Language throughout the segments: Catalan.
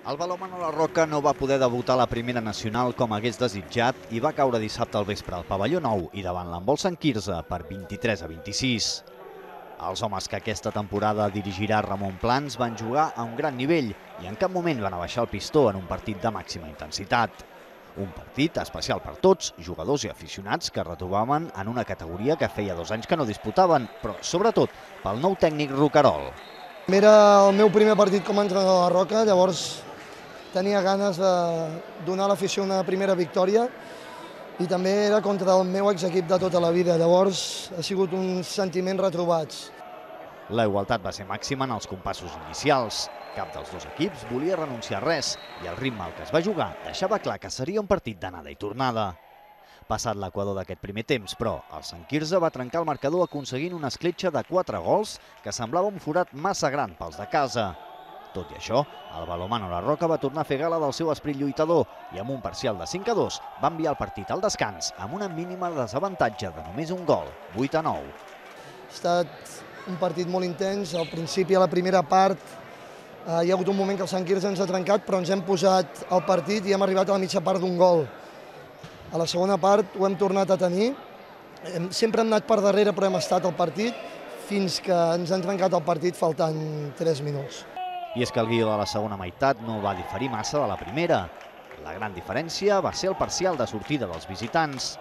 El balonmano La Roca no va poder debutar a la primera nacional com hagués desitjat i va caure dissabte al vespre al pavelló nou i davant l'Handbol Sant Quirze per 23-26. Els homes que aquesta temporada dirigirà Ramon Plans van jugar a un gran nivell i en cap moment van abaixar el pistó en un partit de màxima intensitat. Un partit especial per tots, jugadors i aficionats que retrobaven en una categoria que feia 2 anys que no disputaven, però sobretot pel nou tècnic Roquerol. Era el meu primer partit com a entrenador de La Roca, llavors tenia ganes de donar a l'afició una primera victòria i també era contra el meu exequip de tota la vida, llavors ha sigut uns sentiments retrobats. La igualtat va ser màxima en els compassos inicials. Cap dels dos equips volia renunciar a res i el ritme al que es va jugar deixava clar que seria un partit d'anada i tornada. Passat l'equador d'aquest primer temps, però, el Sant Quirze va trencar el marcador aconseguint una escletxa de 4 gols que semblava un forat massa gran pels de casa. Tot i això, el balonmano La Roca va tornar a fer gala del seu esperit lluitador i amb un parcial de 5-2 va enviar el partit al descans amb una mínima desavantatge de només un gol, 8-9. Ha estat un partit molt intens, al principi a la primera part hi ha hagut un moment que el Sant Quirze ens ha trencat, però ens hem posat al partit i hem arribat a la mitja part d'un gol. A la segona part ho hem tornat a tenir, sempre hem anat per darrere però hem estat al partit fins que ens han trencat el partit faltant 3 minuts. I és que el guió de la segona meitat no va diferir massa de la primera. La gran diferència va ser el parcial de sortida dels visitants.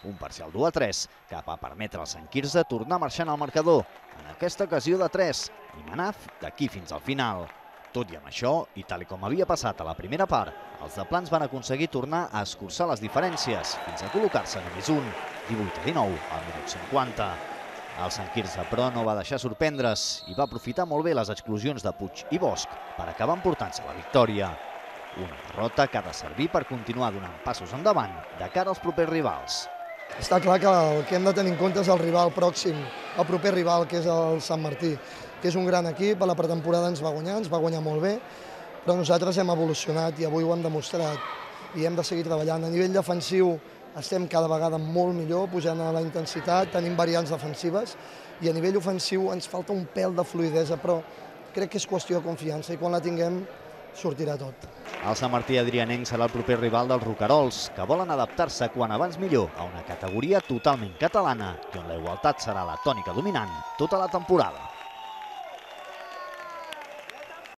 Un parcial 2-3 que va permetre al Sant Quirze tornar marxant al marcador, en aquesta ocasió de 3, i manar d'aquí fins al final. Tot i amb això, i tal com havia passat a la primera part, els de Plans van aconseguir tornar a escurçar les diferències fins a col·locar-se només un, 18-19 al minut 50. El Sant Quirze, però, no va deixar sorprendre's i va aprofitar molt bé les exclusions de Puig i Bosch per acabar emportant-se la victòria. Una derrota que ha de servir per continuar donant passos endavant de cara als propers rivals. Està clar que el que hem de tenir en compte és el rival pròxim, el proper rival, que és el Sant Martí, que és un gran equip, a la pretemporada ens va guanyar molt bé, però nosaltres hem evolucionat i avui ho hem demostrat i hem de seguir treballant. A nivell defensiu estem cada vegada molt millor, pujant a la intensitat, tenim variants defensives i a nivell ofensiu ens falta un pèl de fluïdesa, però crec que és qüestió de confiança i quan la tinguem sortirà tot. El Sant Martí adrianenc serà el proper rival dels Roquerols, que volen adaptar-se quan abans millor a una categoria totalment catalana i on la igualtat serà la tònica dominant tota la temporada.